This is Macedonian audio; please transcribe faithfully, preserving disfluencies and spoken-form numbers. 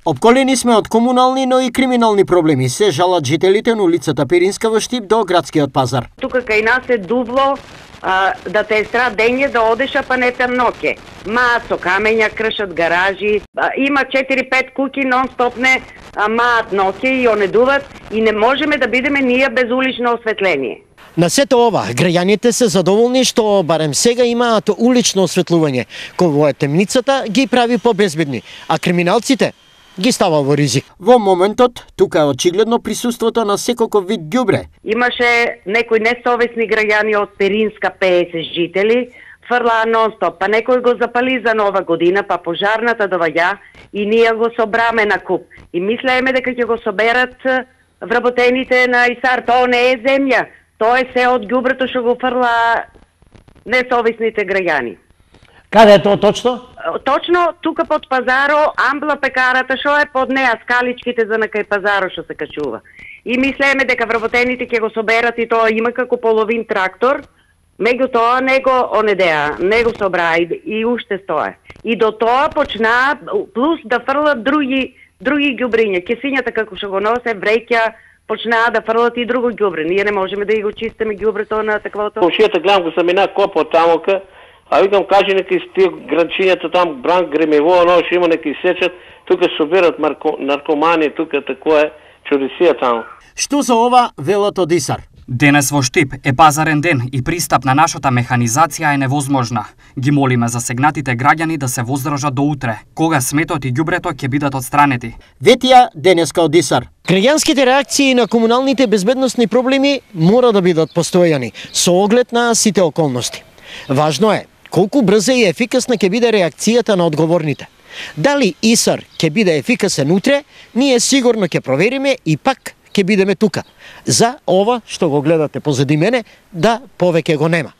Обколени сме од комунални, но и криминални проблеми. Се жалат жителите на улицата Перинска во Штип до градскиот пазар. Тука кај нас е дубло, а, да те е страт дење да одеш, а па не те ноќе. Маат со камења, кршат гаражи, а, има четири-пет куки нон-стоп не а, маат ноќе и онедуват и не можеме да бидеме ние без улично осветление. На сето ова, граѓаните се задоволни што барем сега имаат улично осветлување, кој е темницата ги прави побезбедни, а криминалците ги става во ризик. Во моментот, тука е очигледно присуството на секој вид ѓубре. Имаше некои несовесни граѓани од Перинска пеесет жители, фрлаа нон-стоп, па некој го запали за нова година, па пожарната доваѓа и ние го собраме на куп. И мислееме дека ќе го соберат вработените на ИСАР, тоа не е земја, тоа е се од ѓубрето што го фрлаа несовесните граѓани. Каде е тоа точно? Точно тука под пазаро, амбла пекарата што е под неа, скаличките за на кај пазаро што се качува. И мислееме дека вработените ќе го соберат и тоа има како половин трактор, меѓутоа не го онедеа, не го собраа и, и уште стое. И до тоа почнаа плюс да фрлат други други ѓубриња, кесињата како што го носе вреќа, почнаа да фрлат и друго ѓубре. Ние не можеме да ги го чистиме ѓубрето на таквото. Комшијата гледам го се мина копот тамока. А викам, кажи неки стил гранчињата там, бранк гремево, оно што има неки сечат, тука собират наркомани, тука тако е чудесија таму. Што за ова велат од ИСАР? Денес во Штип е пазарен ден и пристап на нашата механизација е невозможна. Ги молиме засегнатите граѓани да се воздржат до утре, кога сметот и ѓубрето ќе бидат отстранети. Ветија денеска од ИСАР. Граѓанските реакции на комуналните безбедносни проблеми мора да бидат постојани, со оглед на сите околности. Важно е колку брза и ефикасна ќе биде реакцијата на одговорните. Дали ИСАР ќе биде ефикасен утре, ние сигурно ќе провериме и пак ќе бидеме тука. За ова што го гледате позади мене, да повеќе го нема.